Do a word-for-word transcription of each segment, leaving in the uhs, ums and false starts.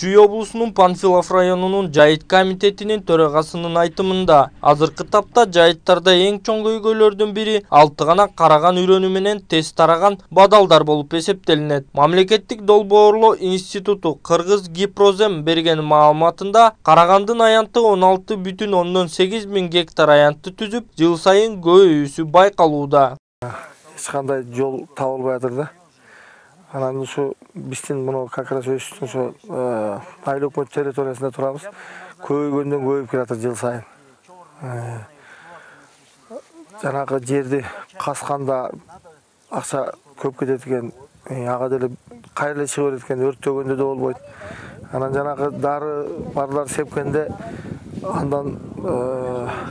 Чүй облусунун Панфилов районунун жайыт комитетинин төрагасынын айтымында, азыркы тапта жайыттарда эң чоң көйгөйлөрдүн бири алты гана караган үрөнү менен тез тараган бадалдар болуп эсептелинет. Мамлекеттик долбоорлоо институту Кыргыз Гипрозем берген маалыматында, карагандын аянты он алты бүтүн ондон сегиз миң гектар аянтты түзүп, жыл сайын көбөйүүсү байкалууда. Эч кандай жол табылбай атыр да. Анан ушу биздин муну как раз өстүн ушу айыл өкмөт территориясында турабыз. Көбөйгөндөн көбөйүп келатыр жыл сайын. Жанагы жерди касканда акча көп кетет экен, ага деле кайра чыгып берет экен, өрттөгөндө да болбойт. Анан жанагы дары барлар сепкенде андан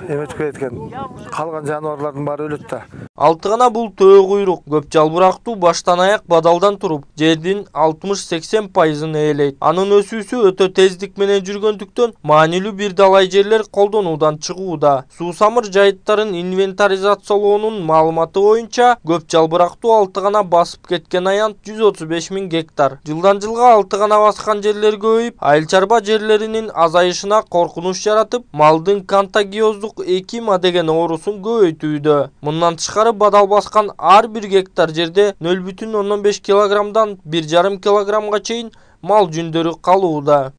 эметип кетет экен. Калган жаныбарлардын баары өлөт да. Алты гана бул төө куйрук, көп жалбырактуу баштан аяк бадалдан туруп, жердин алтымыш сексен пайызын ээлейт. Анын өсүүсү өтө тездик менен жүргөндүктөн маанилүү бир далай жерлер колдонуудан чыгууда. Суусамыр жайыттарын инвентаризациялоонун маалыматы боюнча, көп жалбырактуу алты гана басып кеткен аянт жүз отуз беш миң гектар. Жылдан жылга алты гана баскан жерлер көбөйүп, айыл чарба жерлеринин азайышына коркунуч жаратып, малдын контагиоздук экима деген оорусун көбөйтүүдө. Мындан тышкары бадал баскан ар бир гектар жерде нөл бүтүн ондон беш килограммдан бир жарым килограммга чейин мал жүндөрү калууда.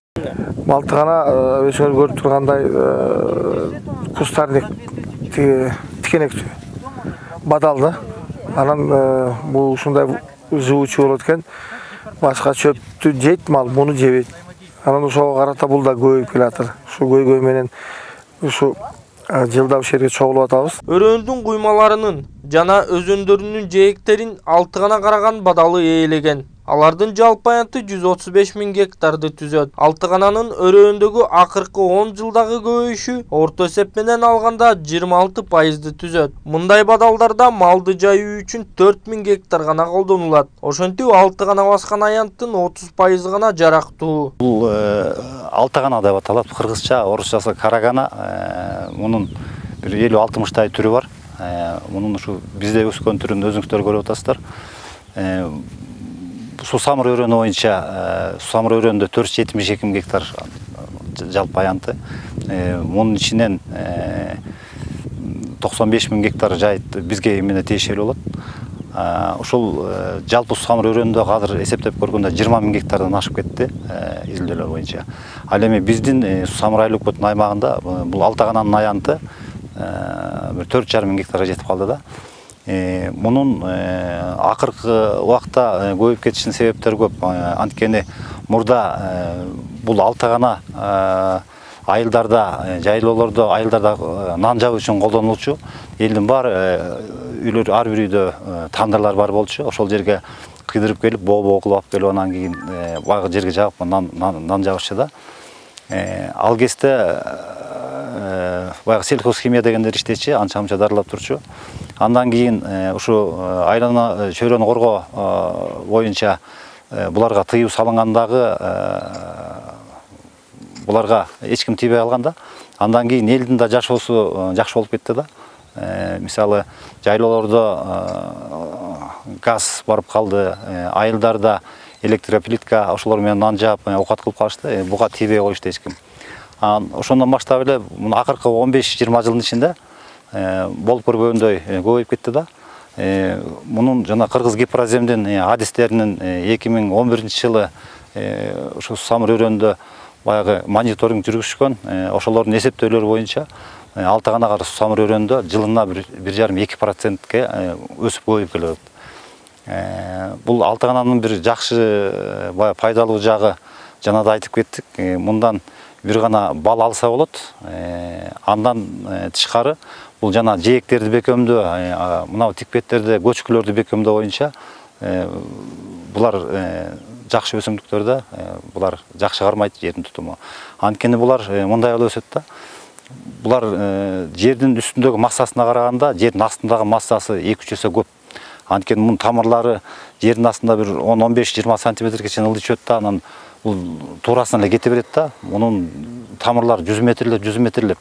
Алты гана өзүңөр көрүп тургандай кустарник тикенектүү бадал да. Анан бул ушундай живучу болот экен. Башка чөптү жейт мал, муну жебейт. Анан ошого карата бул да көбөйүп келатыр. Ушу көйгөй менен ушу жылда ушул жерге чогулуп атабыз. Өрөөндүн куймаларынын жана өзөндөрүнүн жээктерин алты гана караган бадалы ээлеген. Алардын жалпы аянты жүз отуз беш миң гектарды түзөт. Алты гананын өрөөндөгү акыркы он жылдагы көбөйүшү орто эсеп менен алганда жыйырма алты пайызды түзөт. Мындай бадалдарда малды жайуу үчүн төрт миң гектар гана колдонулат. Ошентип алты гана баскан аянттын отуз пайызы гана жарактуу. Бул алты гана деп аталат. Кыргызча, орусчасы карагана. Мунун бир элүү алтымыштай түрү бар. Мунун ушу бизде өскөн түрүн өзүңүздөр көрүп атасыздар. Суусамыр өрөөнү боюнча, Суусамыр өрөөнүндө төрт жүз жетимиш эки миң гектар жалпы аянты. Мунун ичинен токсон беш миң гектар жайыт бизге эмне тиешелүү болот. Ушул жалпы Суусамыр өрөөнүндө азыр эсептеп көргөндө жыйырма миң гектардан ашып кетти изилдөөлөр боюнча. Ал эми биздин Суусамыр айыл өкмөтүнүн аймагында бул алты гананын аянты бир төрт жарым миң гектарга жетип калды да. Мунун акыркы убакта көбөйүп кетишинин себептери көп. Анткени мурда бул алты гана айылдарда, жайлоолордо, айылдарда нан жабуу үчүн колдонулчу. Элдин баары үйлөр, ар бир үйдө тандырлар бар болчу. Ошол жерге кыйдырып келип, боо-боо кылып алып келип, анан кийин баягы жерге жагып нан нан жабышчу да. Ал кезде баягы сельхозхимия дегендер иштечи, анча-мынча дарылап турчу. Андан кийин ушу айлана чөйрөнү коргоо боюнча буларга тыюу салынгандагы буларга эч ким тийбей калган да. Андан кийин элдин да жашоосу жакшы болуп кетти да. Мисалы жайлоолордо газ барып калды, айылдарда электроплитка ошолор менен нан жаап оокат кылып калышты. Буга тийбей коюшту эч ким. Ошондон баштап эле акыркы он беш жыйырма жылдын ичинде болуп көргөндөй көбөйүп кетти да. Мунун жана Кыргыз Гипроземдин адистеринин эки миң он биринчи жылы ушу Суусамыр өрөөнүндө баягы мониторинг жүргүзүшкөн. Ошолордун эсептөөлөрү боюнча алты гана Суусамыр өрөөнүндө жылына бир жарым эки процентке өсүп көбөйүп келет. Бул алты гананын бир жакшы баягы пайдалуу жагы жана да айтып кеттик. Мындан бир гана бал алса болот. Андан тышкары бул жана жээктерди бекемдөө, мына тикпеттерди, көчкүлөрдү бекемдөө боюнча булар жакшы өсүмдүктөр да, булар жакшы кармайт жердин тутуму. Анткени булар мындай болуп өсөт да. Булар жердин үстүндөгү массасына караганда жердин астындагы массасы эки үч эсе көп. Анткени мунун тамырлары жердин астында бир он он беш жыйырма сантиметрге чейин ылдый чөт да, анан бул туурасынан эле кете берет да. Мунун тамырлары жүз метрлеп, жүз метрлеп.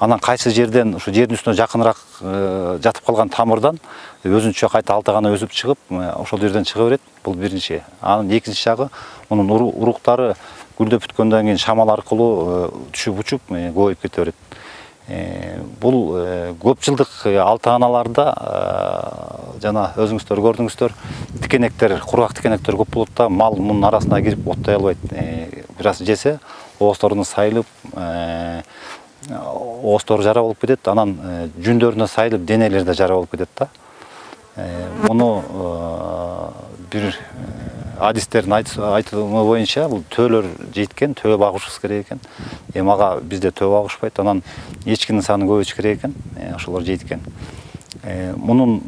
Анан кайсы жерден ушу жердин үстүнө жакыныраак жатып калган тамырдан өзүнчө кайта алты гана өсүп чыгып, ошол жерден чыга берет. Бул биринчи. Анын экинчи жагы, мунун уруктары гүлдөп бүткөндөн кийин шамал аркылуу түшүп учуп көбөйүп кете берет. Бул көп жылдык алты-аналарда жана өзүңүздөр көрдүңүздөр, тикенектер, кургак тикенектер көп болот да, мал мунун арасына кирип оттой албайт. Бир аз жесе оозторуна сайылып, оозтору жара болуп кетет, анан жүндөрүнө сайылып денелери да жара болуп кетет да. Муну бир адистердин айтымы боюнча бул төөлөр жейиткен, төө багышыбыз керек экен. Эми ага бизде төө багышпайт, анан эчкинин санын көбөйтүш керек экен, ошолор жейт экен. Мунун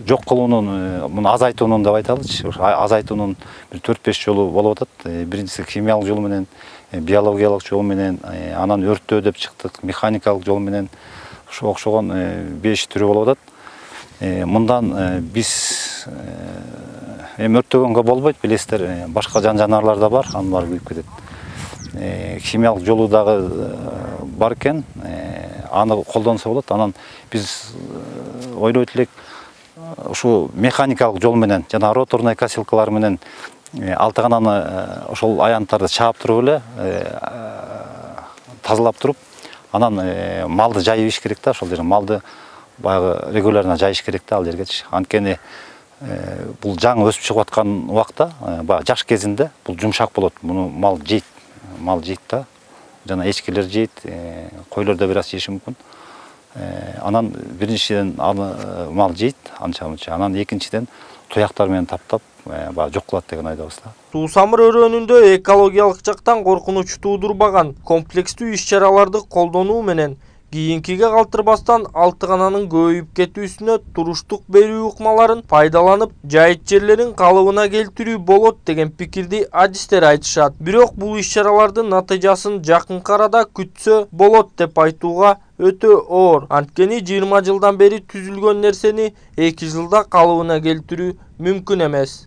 жок кылуунун, муну азайтуунун деп айталычы, азайтуунун бир төрт-беш жолу болуп атат. Биринчиси химиялык жол менен, биологиялык жол менен, анан өрттөө деп чыктык, механикалык жол менен, ошого окшогон беш түрү болуп атат. Мындан биз эми өрттөгөнгө болбойт, билесиздер, башка жан жаныбарлар да бар, анын баары күйүп кетет. Химиялык жолу дагы бар экен, аны колдонсо болот. Анан биз ойлойт элек, ушу механикалык жол менен жана роторный косилкалар менен алтыгананы ошол аянттарды чаап туруп эле, тазалап туруп, анан малды жайыш керек да, ошол жерге малды баягы регулярно жайыш керек да ал жергечи. Анткени бул жаңы өсүп чыгып аткан убакта, баягы жаш кезинде бул жумшак болот. Муну мал жейт, мал жейт да. Жана эчкилер жейт, койлор да бир аз жеши мүмкүн. Анан биринчиден аны мал жейт, анча-мынча. Анан экинчиден туяктар менен таптап, баягы жок кылат деген айдабыз да. Суусамыр өрөөнүндө экологиялык жактан коркунуч туудурбаган комплекстүү иш-чараларды колдонуу менен кийинкиге калтырбастан алтыгананын көбөйүп кетүүсүнө туруштук берүү ыкмаларын пайдаланып, жайыт жерлерин калыбына келтирүү болот деген пикирди адистер айтышат. Бирок бул иш-чаралардын натыйжасын жакынкы арада күтсө болот деп айтууга өтө оор. Анткени жыйырма жылдан бери түзүлгөн нерсени эки жылда калыбына келтирүү мүмкүн эмес.